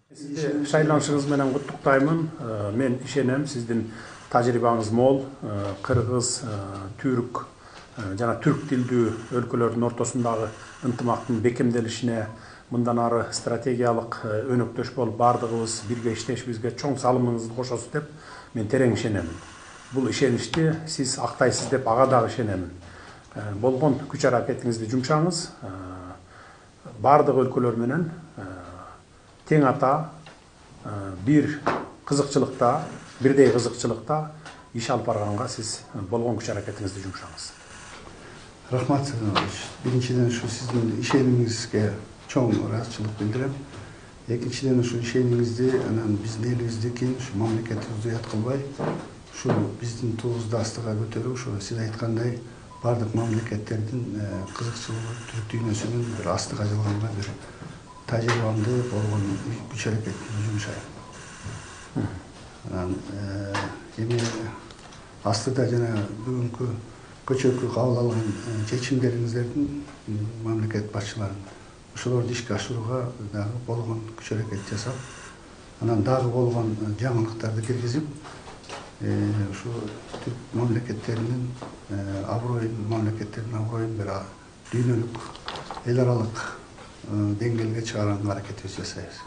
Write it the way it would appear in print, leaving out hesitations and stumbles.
Сизди шайланышыңыз менен куттуктаймын. Мен ишенем, сиздин тажрыйбаңыз мол, кыргыз, түрк жана түрк тилдүү өлкөлөрдүн ортосундагы ынтымактын бекемделишине мындан ары стратегиялык өнөктөш болуп бардыгыбыз бирге иштешибизге чоң салымыңызды кошосуз деп мен терең ишенемин. Бул ишеничти сиз актайсыз деп ага дагы ишенемин. Болгон күч аракетиңизди жумшаңыз, бардык өлкөлөр менен тең ата, бир кызыкчылыкта, бирдей кызыкчылыкта иш алып барганга сиз болгон күч аракетиңизди жумшаңыз. Рахмат. Биринчиден ушу сиздин ишенимиңизге чоң ыраазычылык билдирем. Экинчиден ушу ишенимиңизди анан биздин элибиздики, ушу мамлекетибизди уят кылбай, ушу биздин туубузду астыга көтөрүп, ушу сиз айткандай бардык мамлекеттердин кызыкчылыгы, түрк дүйнөсүнүн бир астыга жылганга бир тажрыйбамды болгон күч аракетимди жумшайм. Анан эми астыда жана бүгүнкү көчөкү кабыл алган чечимдериңиздердин мамлекет башчыларын ошолорду ишке ашырууга дагы болгон күч аракет жасап, анан дагы болгон жаңылыктарды киргизип, ушу түрк мамлекеттеринин аброюн бир дүйнөлүк эл аралык деңгээлге чыгарганга аракетибизди жасайбыз.